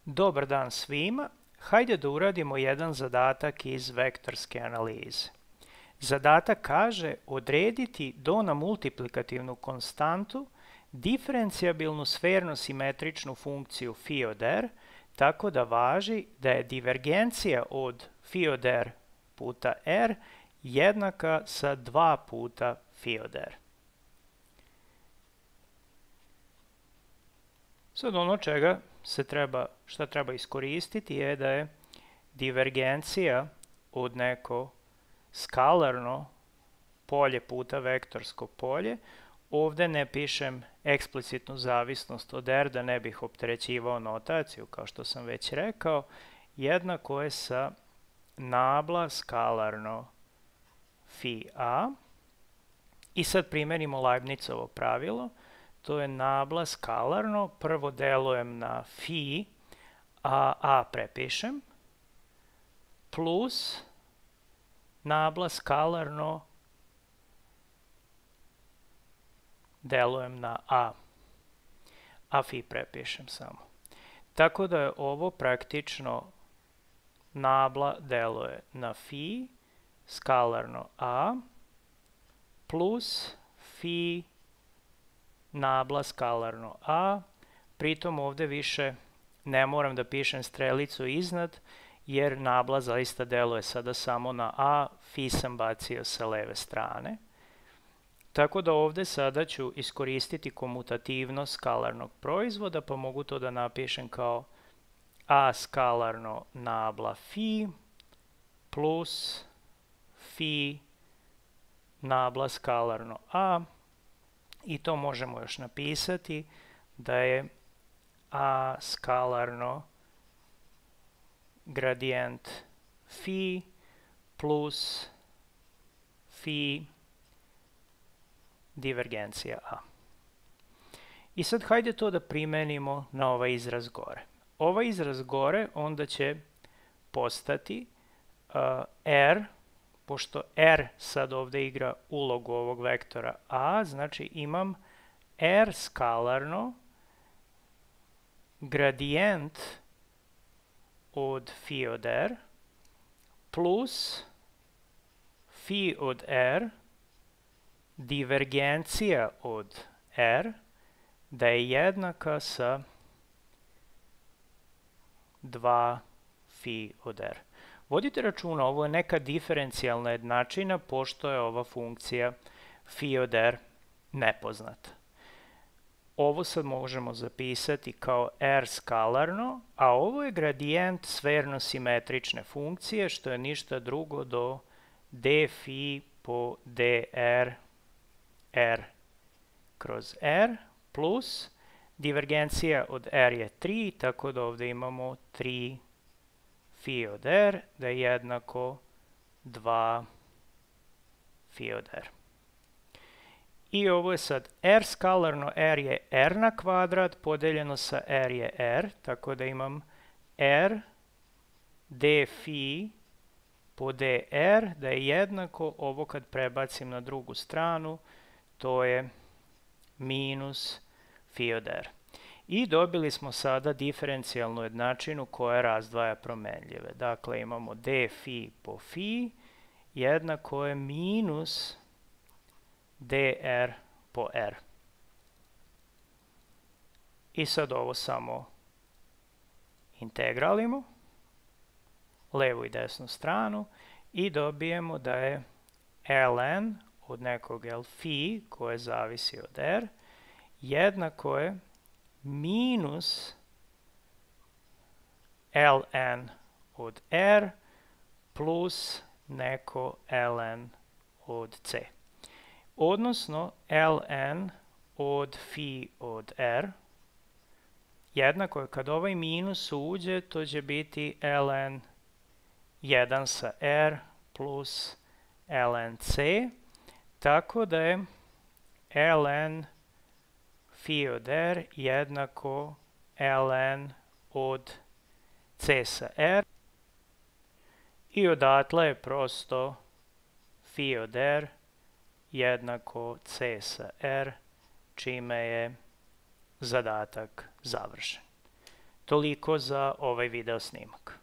Dobar dan svima, hajde da uradimo jedan zadatak iz vektorske analize. Zadatak kaže odrediti do na multiplikativnu konstantu diferencijabilnu sferno-simetričnu funkciju φ od r, tako da važi da je divergencija od φ od r puta r jednaka sa 2 puta φ od r. Sad ono šta treba iskoristiti je da je divergencija od neko skalarno polje puta vektorsko polje. Ovde ne pišem eksplicitnu zavisnost od r da ne bih opterećivao notaciju, kao što sam već rekao, jednako je sa nabla skalarno φ a. I sad primenimo Leibnizovo pravilo. To je nabla skalarno, prvo delujem na φ, a prepišem, plus nabla skalarno delujem na a φ prepišem samo. Tako da je ovo praktično nabla deluje na φ skalarno a plus φ nabla skalarno a, pritom ovde više ne moram da pišem strelicu iznad, jer nabla zaista deluje sada samo na a, φ sam bacio sa leve strane. Tako da ovde sada ću iskoristiti komutativnost skalarnog proizvoda, pa mogu to da napišem kao a skalarno nabla φ plus φ nabla skalarno a, i to možemo još napisati da je a skalarno gradijent φ plus φ divergencija a. I sad hajde to da primenimo na ovaj izraz gore. Ovaj izraz gore onda će postati r, pošto r sad ovde igra ulogu ovog vektora a, znači imam r skalarno gradijent od φ od r plus φ od r divergencija od r da je jednaka sa 2 φ od r. Vodite računa, ovo je neka diferencijalna jednačina, pošto je ova funkcija φ od r nepoznata. Ovo sad možemo zapisati kao r skalarno, a ovo je gradijent sferno-simetrične funkcije, što je ništa drugo do d φ po dr r kroz r, plus divergencija od r je 3, tako da ovde imamo 3 φ od r, da je jednako 2 φ od r. I ovo je sad r skalarno, r je r na kvadrat, podeljeno sa r je r, tako da imam r d φ po dr, da je jednako, ovo kad prebacim na drugu stranu, to je minus φ od r. I dobili smo sada diferencijalnu jednačinu koja razdvaja promenljive. Dakle, imamo d φ po φ jednako je minus dr po r. I sad ovo samo integralimo, levu i desnu stranu, i dobijemo da je ln od nekog φ koje zavisi od r jednako je minus ln od r plus neko ln od c. Odnosno, ln od φ od r jednako je, kad ovaj minus uđe, to će biti ln 1 sa r plus ln c, tako da je ln φ od r jednako ln od c sa r, i odatle je prosto φ od r jednako c sa r, čime je zadatak završen. Toliko za ovaj video snimak.